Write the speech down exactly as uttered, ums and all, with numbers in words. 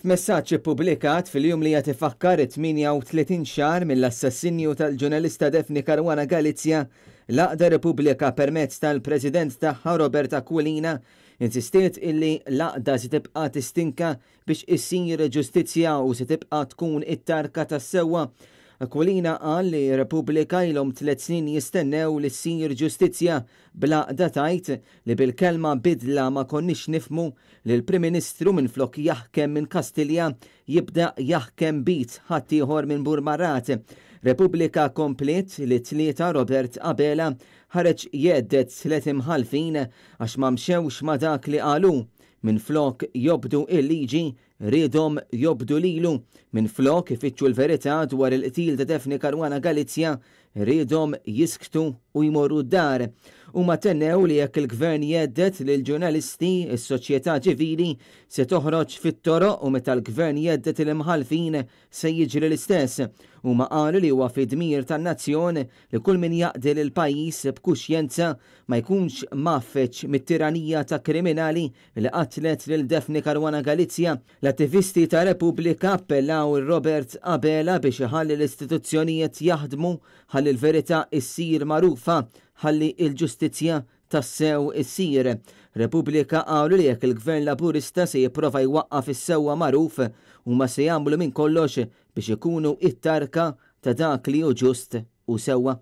F'messaġġ ippubblikat fil-jum li qed ifakkar it-tmienja u tletin xahar mill-assassinju tal-ġurnalista Daphne Caruana Galizia, l-Għaqda Repubblika permezz tal-President tagħha Robert Aquilina insistiet illi l-għaqda se tibqa' tistinka biex issir ġustizzja u se tibqa' tkun it-tarka tas-sewwa. Aquilina qal li Repubblika ilhom tliet snin jistennew li ssir ġustizzja, bl-għaqda tgħid li bil-kelma bidla ma konniex nifhmu li l-Prim Ministru minflok jaħkem minn Kastilja jibda jaħkem bit ħaddieħor minn Burmarrad. Repubblika kompliet li tlieta Robert Abela ħareġ jgħedded tliet imħallfin għax ma mxewx ma dak li qalu. Minflok jobdu il-liġi, riedhom jobdu lilu. Minflok ifittxu l-verità dwar il-qtil ta' Daphne Caruana Galizia, riedhom jisktu u jmorru d-dar. Huma tennew li jekk il-gvern jgħedded lil ġurnalisti, is-soċjetà ċivili se toħroġ fit-toroq u meta l-gvern jgħedded il-imħallfin se jiġri l-istess. Huma qalu li huwa fi dmir tan-nazzjon li kull min jaqdi lil pajjiż b'kuxjenza ma jkunx mgħaffeġ mit-tiranija ta' kriminali li qatlet lil Daphne Caruana Galizia. L-attivisti ta' Repubblika appellaw Robert Abela biex iħalli l-istituzzjonijiet jaħdmu, ħalli l-verità issir magħrufa, ħalli l-ġustizzja tassew issir. Repubblika qalu li jekk il-Gvern Laburista se jipprova jwaqqaf is-sewwa magħruf, huma se jagħmlu minn kollox biex ikunu it-tarka ta' dak li hu ġust u sewwa.